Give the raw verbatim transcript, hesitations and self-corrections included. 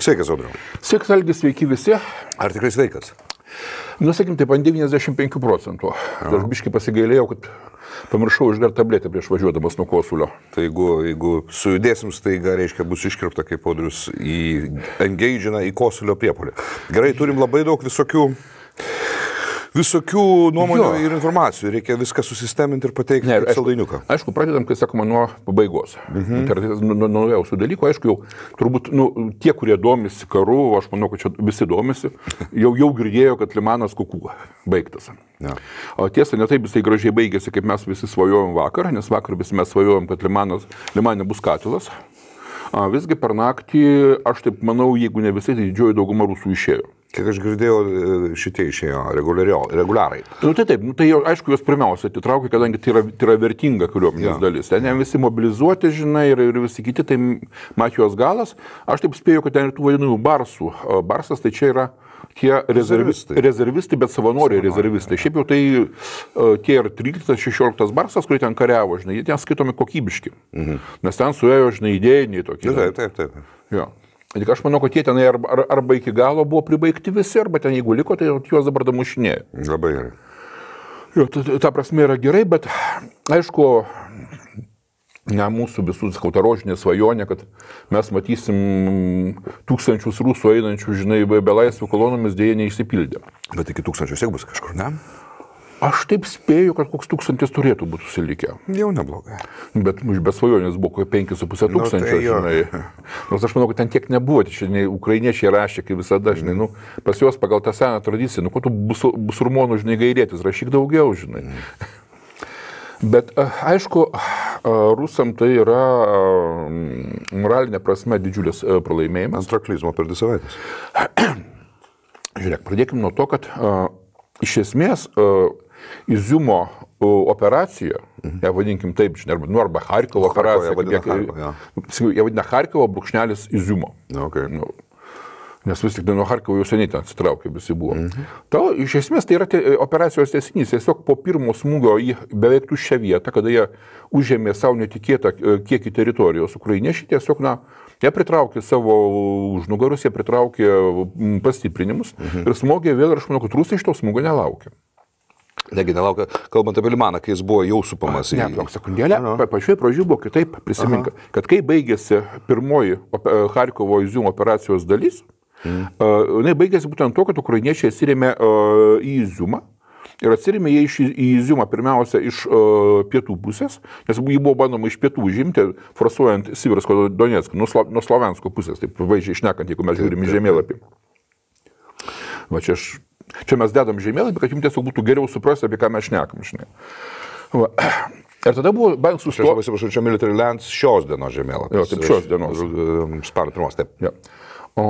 Sveikas, Audriau. Sveikas, Algis, sveiki visi. Ar tikrai sveikas? Nu, sakim, taip, ant devyniasdešimt penkių procentų. Aš biškai pasigailėjau, kad pamiršau išgerti tabletę prieš važiuodamas nuo kosulio. Tai jeigu, jeigu sujudėsim, staiga, reiškia, bus iškirpta, kaip Audrius į engage'ina į kosulio priepolį. Gerai, turim labai daug visokių, visokių nuomonių jo. Ir informacijų. Reikia viską susisteminti ir pateikti ne, kaip saldainiuką. Aišku, pradedam, kai sakoma, nuo pabaigos. Mhm. Tai yra nuo naujausių dalykų. Aišku, jau turbūt nu, tie, kurie domisi karu, aš manau, kad čia visi domisi, jau, jau girdėjo, kad Limanas Kukų baigtas. Ja. O tiesa, ne taip jisai gražiai baigėsi, kaip mes visi svajojom vakar, nes vakar visi mes svajojom, kad Limanas, Limane bus katilas. A, visgi per naktį, aš taip manau, jeigu ne visai, tai didžioji dauguma rusų išėjo. Kiek aš girdėjau, šitie išėjo reguliarai. Nu, tai taip, nu, tai jau, aišku, jos pirmiausia atitraukė, kadangi tai yra, tai yra vertinga kariuomenės ja. Dalis. Ten visi mobilizuoti, žinai, ir, ir visi kiti, tai Matijos galas. Aš taip spėjau, kad ten ir tų vadinamų barsų. Barsas tai čia yra tie rezervistai, rezervistai bet savanoriai rezervistai. Šiaip jau tai tie ir tryliktas, šešioliktas barsas, kurie ten kariavo, žinai, jie ten skaitomi kokybiški. Mhm. Nes ten suėjo, žinai, idėjiniai tokie. Taip, taip, taip. Jo. Tik aš manau, kad jie tenai arba, arba iki galo buvo pribaigti visi, arba ten jeigu liko, tai juos dabar damušinėjo. Labai gerai. Jo, ta, ta prasme yra gerai, bet aišku, ne mūsų visų, sakau, ta rožinė svajonė, kad mes matysim tūkstančius rusų einančių, žinai, be laisvių kolonomis dėja neišsipildė. Bet iki tūkstančių siek bus kažkur, ne? Aš taip spėju, kad koks tūkstantis turėtų būti susilikę. Jau neblogai. Bet be svajonės buvo penki su pusė tūkstančio, nu, tai žinai. Nors aš manau, kad ten tiek nebuvo, tai žinai, ukrainiečiai rašė, kaip visada, žinai, nu, pas juos pagal tą seną tradiciją, nu, ko tu bus, busurmonų, žinai, gairėtis, rašyk daugiau, žinai. Bet, aišku, rusam tai yra moralinė prasme didžiulis pralaimėjimas. Antraklizmo per dvi savaitės. Žiūrėk, pradėkim nuo to, kad iš esmės Iziumo operacija, mhm. ją vadinkim taip, žinai, arba, nu, arba Charkovo operacija, jie vadina Charkovo, ja. Jie vadina Charkovo brūkšnelis Iziumo. Okay. Nu, nes vis tik nuo Charkovo jau seniai ten atsitraukė visi buvo. Mhm. Ta, iš esmės tai yra te, operacijos tęsinys, tiesiog po pirmo smūgio į beveik tuščią vietą, kada jie užėmė savo netikėtą kiekį teritorijos ukrainiečiai, tiesiog, na, jie pritraukė savo užnugarus, jie pritraukė pastiprinimus mhm. ir smogė vėl, ir aš manau, kad rusai iš to smūgio nelaukia. Negi nelaukia, kalbant apie Limaną, kai jis buvo jau supamas į... Ne, plok sekundėlę, pa, pačioj pradžioj buvo kitaip, prisimink, kad kai baigėsi pirmoji Charkovo Iziumo operacijos dalis, mm. uh, jinai baigėsi būtent to, kad ukrainiečiai atsirėmė uh, į Iziumą ir atsirėmė jie iš, į Iziumą pirmiausia iš uh, pietų pusės, nes jį buvo bandoma iš pietų užimti, forsuojant Siversko Donetską, nuo, Slo, nuo Slovensko pusės, taip vaizdžiai šnekant, jeigu mes žiūrim į žemėlapį. Va čia aš... Čia mes dedam žemėlapį, kad jums tiesiog būtų geriau suprasti, apie ką mes šnekam, žinai. Va. Ir tada buvo bent sustoti... Aš labai atsiprašau, čia Military Lands šios dienos žemėlapis. Jo, taip, šios dienos. Spalio pirmos, taip. Ja. O